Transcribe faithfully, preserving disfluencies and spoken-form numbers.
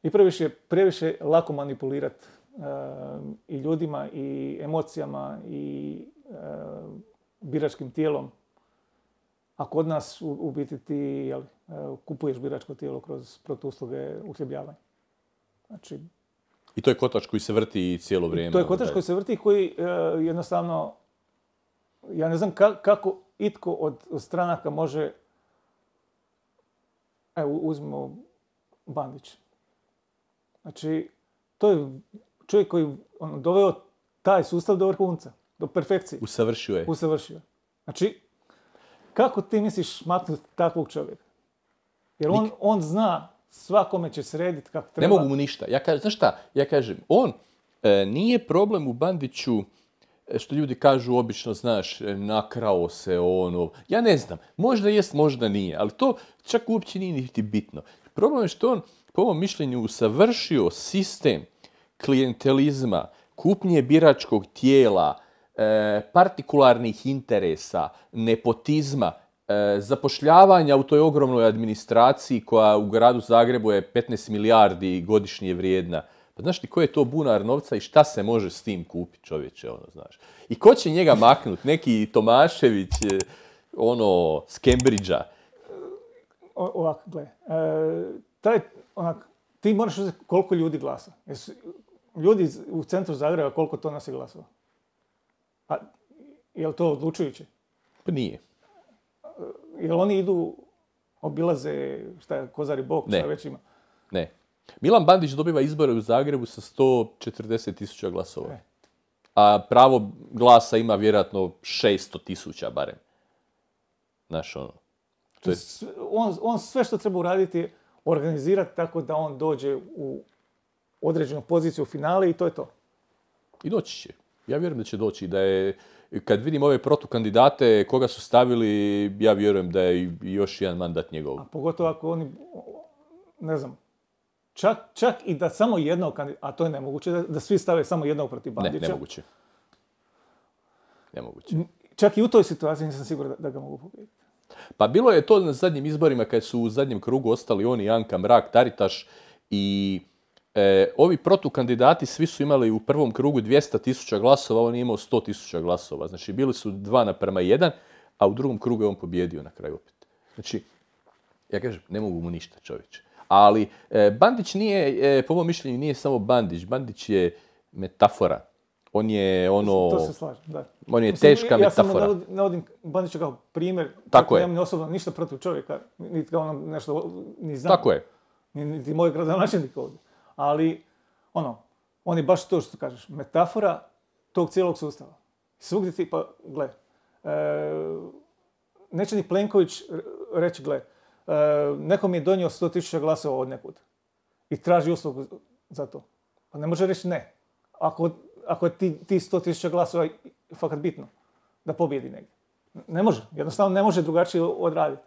I previše, previše lako manipulirati uh, i ljudima, i emocijama, i uh, biračkim tijelom. A kod nas u, u biti ti jel, uh, kupuješ biračko tijelo kroz protuusluge uhljebljavanja. Znači, I to je kotač koji se vrti cijelo vrijeme. To je kotač koji se vrti i koji uh, jednostavno, ja ne znam ka, kako itko od, od stranaka može, evo uzmimo Bandić. Znači, to je čovjek koji on, doveo taj sustav do vrhunca, do perfekcije. Usavršio je. Usavršio. Znači, kako ti misliš maknuti takvog čovjeka? Jer on, on zna svakome će srediti kako treba. Ne mogu mu ništa. Ja kažem, znaš šta? Ja kažem, on e, nije problem u Bandiću što ljudi kažu obično, znaš, nakrao se ono. Ja ne znam. Možda jest, možda nije. Ali to čak uopće nije niti bitno. Problem je što on, po mom mišljenju, usavršio sistem klijentelizma, kupnje biračkog tijela, e, partikularnih interesa, nepotizma, e, zapošljavanja u toj ogromnoj administraciji koja u gradu Zagrebu je petnaest milijardi godišnje vrijedna. Pa znaš ti ko je to bunar novca i šta se može s tim kupiti, čovječe, ono, znaš. I ko će njega maknuti? Neki Tomašević, ono, s Cambridgea. Ovako, gle, e, taj, onak, ti moraš uzeti koliko ljudi glasa. Jesu, ljudi u centru Zagreba, koliko to nas je glasova? A je li to odlučujuće? Pa nije. Je li oni idu, obilaze, šta je, Kozari bok, šta već ima? Ne. Milan Bandić dobiva izbore u Zagrebu sa sto četrdeset tisuća glasova. Ne. A pravo glasa ima vjerojatno šesto tisuća barem. Znaš, ono. To je... on, on sve što treba uraditi organizirati tako da on dođe u određenu poziciju u finale i to je to. I doći će. Ja vjerujem da će doći. Da je, kad vidim ove protukandidate, koga su stavili, ja vjerujem da je još jedan mandat njegov. A pogotovo ako oni, ne znam, čak, čak i da samo jednog kandidata, a to je nemoguće, da, da svi stave samo jednog protiv Bandića. Ne, nemoguće. Nemoguće. Čak i u toj situaciji nisam siguran da, da ga mogu pobijediti. Pa bilo je to na zadnjim izborima kad su u zadnjem krugu ostali oni, Anka Mrak-Taritaš i e, ovi protukandidati svi su imali u prvom krugu dvjesto tisuća glasova, on je imao sto tisuća glasova. Znači bili su dva naprema jedan, a u drugom krugu je on pobjedio na kraju opet. Znači, ja kažem, ne mogu mu ništa, čovječe. Ali e, Bandić nije, e, po mom mišljenju, nije samo Bandić. Bandić je metafora. On je ono... To se slažem, da. On je Mislim, teška ja metafora. Ja samo navodim Bandića kao primjer. Tako je. Nemam osobno ništa protiv čovjeka, niti kao ono nešto, ni znam. Tako je. Niti moj gradonačelnik ovdje. Ali, ono, on je baš to što kažeš, metafora tog cijelog sustava. Svugdje ti, pa, gle, e, neće ni Plenković reći, gle, e, neko mi je donio sto tisuća glasova od nekud i traži uslugu za to. Pa ne može reći ne. Ako ako je ti, ti sto tisuća glasova fakat bitno da pobjedi negdje. Ne može. Jednostavno ne može drugačije odraditi.